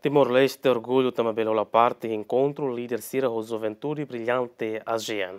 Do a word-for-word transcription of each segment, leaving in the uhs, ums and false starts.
Timor-Leste orgullu tanba bele hola parte enkontru líder sira ho juventude brillante ASEAN.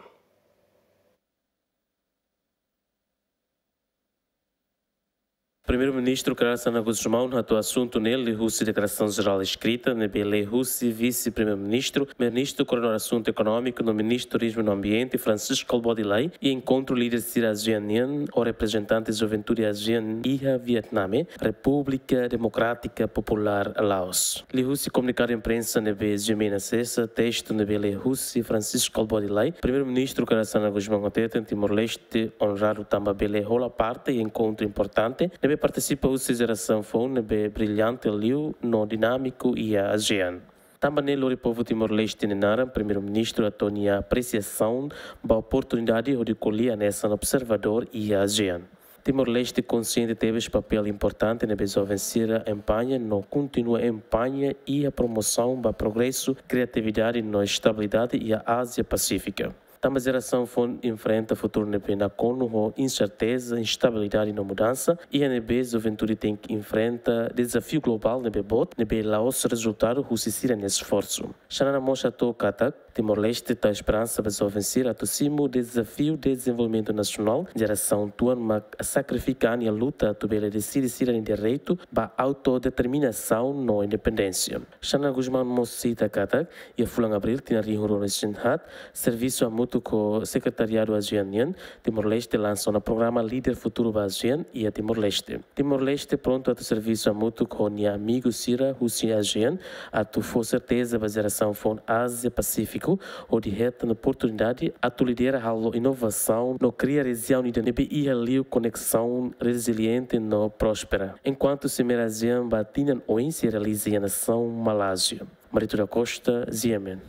Primeiru-Ministru Kay Rala Xanana Gusmão hato'o asuntu ne'e liuhusi deklarasaun jerál eskrita ne'ebé lee husi Vise-Primeiru-Ministru, Ministru Koordenadór Asuntu Ekonómiku no Ministru Turizmu no Ambiente, Francisco Kalbuadi Lay, iha enkontru líder sira ASEAN nian ho reprezentante juventude ASEAN iha Vietname, Repúblika Demokrátika Populár Laos. Liuhusi komunikadu imprensa ne'ebé G M N asesa, testu ne'ebé lee husi Francisco Kalbuadi Lay, Primeiru-Ministru Kay Rala Xanana Gusmão hateten Timor-Leste onradu tanba bele hola parte iha enkontru importante ne'ebé partisipa husi jerasaun foun ne'ebé brillante liu no dinámiku iha ASEAN. Tanba ne'e lori povu Timor-Leste nia naran, Primeiru-Ministru hato'o nia apresiasaun ba oportunidade hodi ko'alia hanesan observadór iha ASEAN. Timor-Leste konsiente tebes papél importante ne'ebé joven sira empaña no kontinua empaña iha promosaun ba progresu, kriatividade no estabilidade iha Ázia Pasífika. Tanba jerasaun foun enfrenta futuru ne'ebé nakonu ho inserteza, instabilidade no mudansa, iha ne'ebé juventude tenke enfrenta dezafiu globál ne'ebé boot, ne'ebé la'ós rezultadu husi sira-nia esforsu. Xanana mós hato'o katak, Timor-Leste tau esperansa ba joven sira atu simu dezafiu dezenvolvimentu nasionál, jerasaun tuan mak sakrifika an iha luta atu bele deside sira-nia direitu ba autodeterminasaun no independénsia. Xanana Gusmão mós sita katak, iha fulan Abríl tinan rihun rua resin haat, servisu hamutuk ho Sekretariadu ASEAN nian, Timor-Leste lansa ona programa Líder Futuru ba ASEAN iha Timor-Leste. Timor-Leste prontu atu servisu hamutuk ho nia amigu sira husi ASEAN atu fó serteza ba jerasaun foun Ázia Pasífiku hodi hetan oportunidade atu lidera halo inovasaun no kria rejiaun ida ne'ebé iha liu koneksaun reziliente no próspera. Enkuantu Simeira ASEAN ba tinan oin sei realiza iha nasaun Malázia. Marito da Costa, G M N.